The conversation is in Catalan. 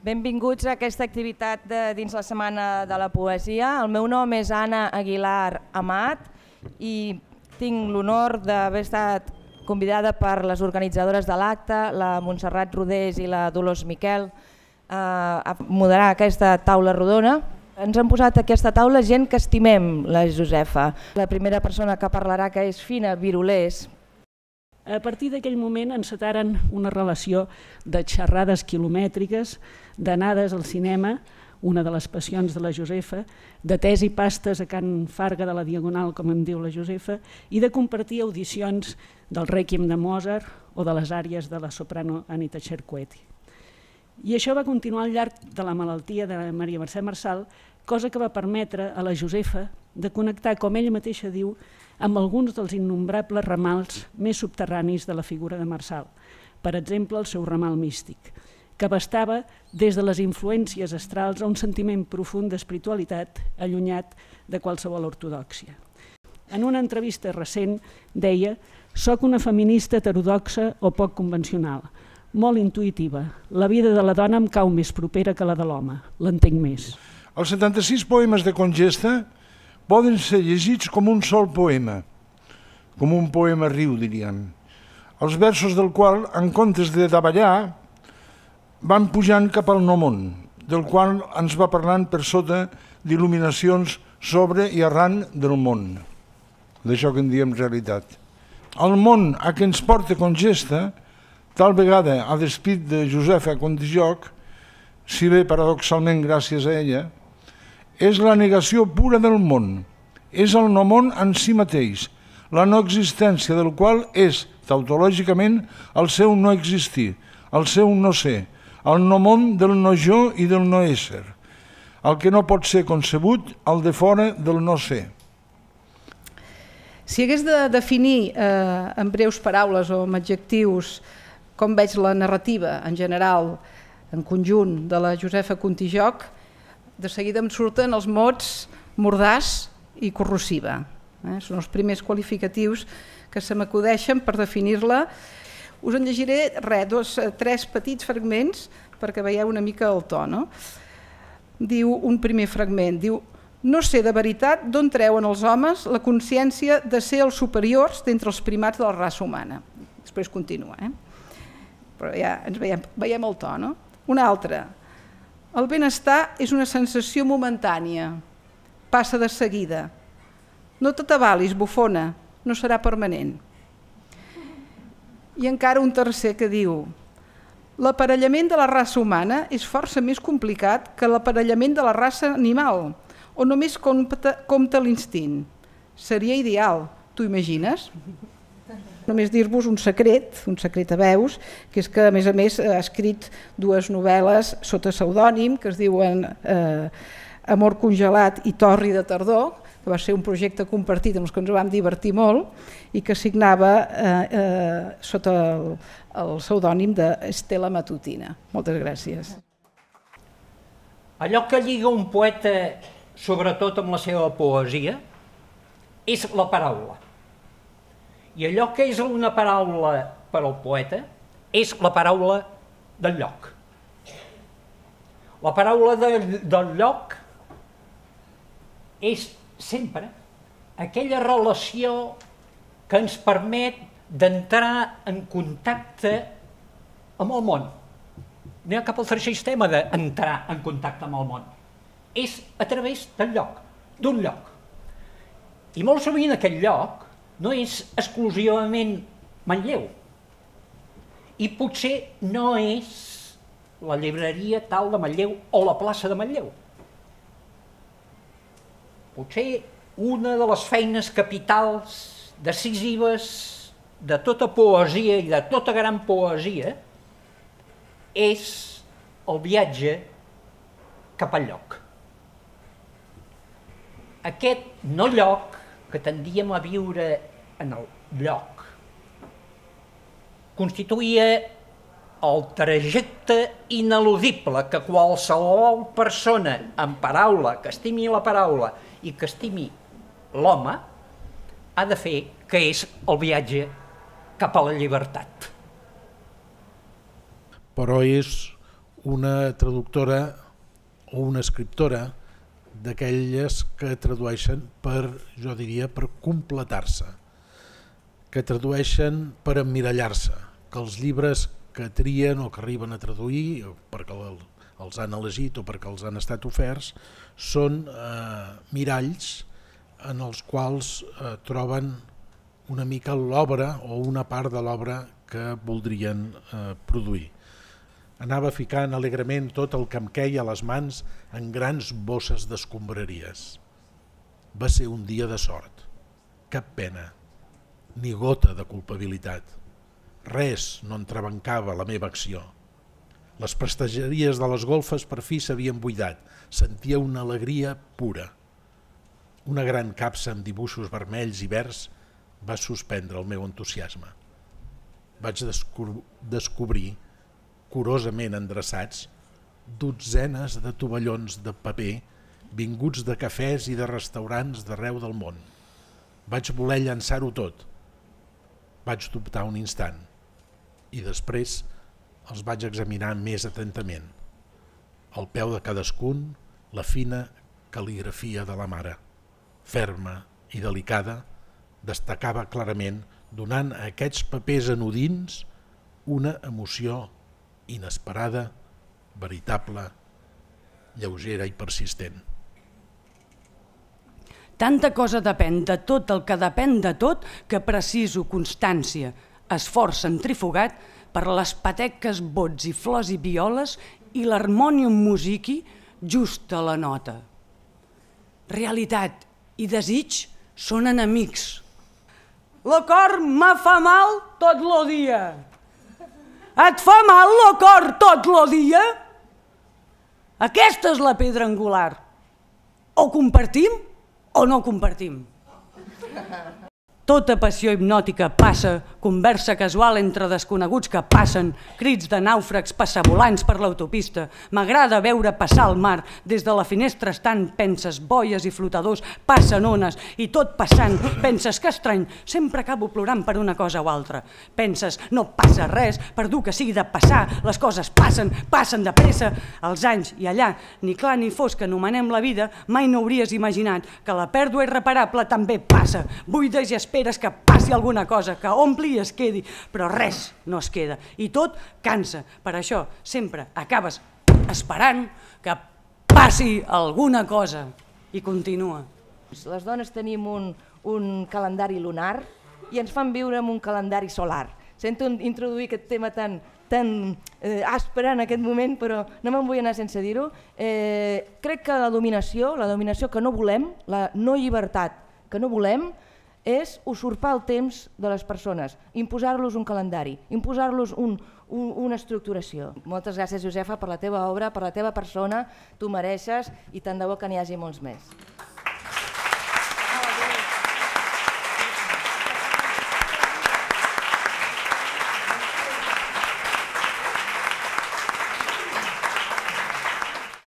Benvinguts a aquesta activitat dins la Setmana de la Poesia. El meu nom és Anna Aguilar Amat i tinc l'honor d'haver estat convidada per les organitzadores de l'acte, la Montserrat Rodés i la Dolors Miquel, a moderar aquesta taula rodona. Ens han posat a aquesta taula gent que estimem la Josefa. La primera persona que parlarà, que és Fina Virulés. A partir d'aquell moment encetaren una relació de xerrades quilomètriques, d'anades al cinema, una de les passions de la Josefa, de tés i pastes a Can Farga de la Diagonal, com em diu la Josefa, i de compartir audicions del Rèquiem de Mozart o de les àries de la soprano Anita Cerqueti. I això va continuar al llarg de la malaltia de Maria Mercè Marçal, cosa que va permetre a la Josefa de connectar, com ella mateixa diu, amb alguns dels innombrables ramals més subterranis de la figura de Marçal, per exemple el seu ramal místic, que abastava des de les influències astrals a un sentiment profund d'espiritualitat allunyat de qualsevol ortodòxia. En una entrevista recent deia: «Soc una feminista heterodoxa o poc convencional, molt intuïtiva. La vida de la dona em cau més propera que la de l'home, l'entenc més». Els 76 poemes de Congesta poden ser llegits com un sol poema, com un poema riu, diríem, els versos del qual, en comptes de davallar, van pujant cap al no món, del qual ens va parlant per sota d'il·luminacions sobre i arran del món, d'això que en diem realitat. El món a què ens porta Congesta, tal vegada a despit de Josefa Contijoch, si bé paradoxalment gràcies a ella, és la negació pura del món, és el no món en si mateix, la no existència del qual és, tautològicament, el seu no existir, el seu no ser, el no món del no jo i del no ésser, el que no pot ser concebut, el de fora del no ser. Si hagués de definir en breus paraules o amb adjectius com veig la narrativa en general, en conjunt, de la Josefa Contijoch, de seguida em surten els mots mordaç i corrosiva. Són els primers qualificatius que se m'acudeixen per definir-la. Us en llegiré tres petits fragments perquè veieu una mica el to. Diu un primer fragment, diu: «No sé de veritat d'on treuen els homes la consciència de ser els superiors d'entre els primats de la raça humana». Després continua, però ja ens veiem el to. Una altra: «El benestar és una sensació momentània, passa de seguida. No t'atabalis, bufona, no serà permanent». I encara un tercer que diu: «L'aparellament de la raça humana és força més complicat que l'aparellament de la raça animal, on només compta l'instint. Seria ideal, t'ho imagines?» Només dir-vos un secret a veus, que és que a més ha escrit dues novel·les sota pseudònim que es diuen Amor congelat i Torri de tardor, que va ser un projecte compartit amb els que ens vam divertir molt i que signava sota el pseudònim d'Estela Matutina. Moltes gràcies. Allò que lliga un poeta, sobretot amb la seva poesia, és la paraula. I allò que és una paraula per al poeta és la paraula del lloc. La paraula del lloc és sempre aquella relació que ens permet d'entrar en contacte amb el món. No hi ha cap altre sistema d'entrar en contacte amb el món. És a través del lloc, d'un lloc. I molt sovint aquest lloc no és exclusivament Manlleu. I potser no és la llibreria tal de Manlleu o la plaça de Manlleu. Potser una de les feines capitals decisives de tota poesia i de tota gran poesia és el viatge cap al lloc. Aquest no lloc que tendíem a viure en el lloc constituïa el trajecte ineludible que qualsevol persona en paraula, que estimi la paraula i que estimi l'home, ha de fer, que és el viatge cap a la llibertat. Però és una traductora o una escriptora d'aquelles que tradueixen per, jo diria, per completar-se, que tradueixen per emmirallar-se, que els llibres que trien o que arriben a traduir, perquè els han elegit o perquè els han estat oferts, són miralls en els quals troben una mica l'obra o una part de l'obra que voldrien produir. Anava ficant alegrement tot el que em queia a les mans en grans bosses d'escombraries. Va ser un dia de sort, cap pena, ni gota de culpabilitat. Res no entrebancava la meva acció. Les prestatgeries de les golfes per fi s'havien buidat, sentia una alegria pura. Una gran capsa amb dibuixos vermells i verds va suspendre el meu entusiasme. Vaig descobrir, curosament endreçats, dotzenes de tovallons de paper vinguts de cafès i de restaurants d'arreu del món. Vaig voler llançar-ho tot. Vaig dubtar un instant i després els vaig examinar més atentament. Al peu de cadascun, la fina cal·ligrafia de la mare, ferma i delicada, destacava clarament, donant a aquests papers anodins una emoció inesperada, veritable, lleugera i persistent. Tanta cosa depèn de tot el que depèn de tot que preciso constància, esforç centrifugat per les pateques bots i flors i violes i l'harmònium musiqui just a la nota. Realitat i desig són enemics. Lo cor me fa mal tot lo dia. Et fa mal lo cor tot lo dia? Aquesta és la pedra angular. O compartim o no compartim. Tota passió hipnòtica passa, conversa casual entre desconeguts que passen, crits de nàufrags passavolants per l'autopista. M'agrada veure passar el mar, des de la finestra estant, penses boies i flotadors, passen ones, i tot passant, penses que estrany, sempre acabo plorant per una cosa o altra. Penses, no passa res, per dur que sigui de passar, les coses passen, passen de pressa. Els anys i allà, ni clar ni fos que anomenem la vida, mai no hauries imaginat que la pèrdua irreparable també passa. Buides i esperes que passi alguna cosa, que ompli i es quedi, però res no es queda. I tot cansa. Per això sempre acabes esperant que passi alguna cosa. I continua. Les dones tenim un calendari lunar i ens fan viure en un calendari solar. Sento introduir aquest tema tan aspre en aquest moment, però no me'n vull anar sense dir-ho. Crec que la dominació que no volem, la no llibertat que no volem, és usurpar el temps de les persones, imposar-los un calendari, imposar-los una estructuració. Moltes gràcies, Josefa, per la teva obra, per la teva persona, tu mereixes i tant de bo que n'hi hagi molts més.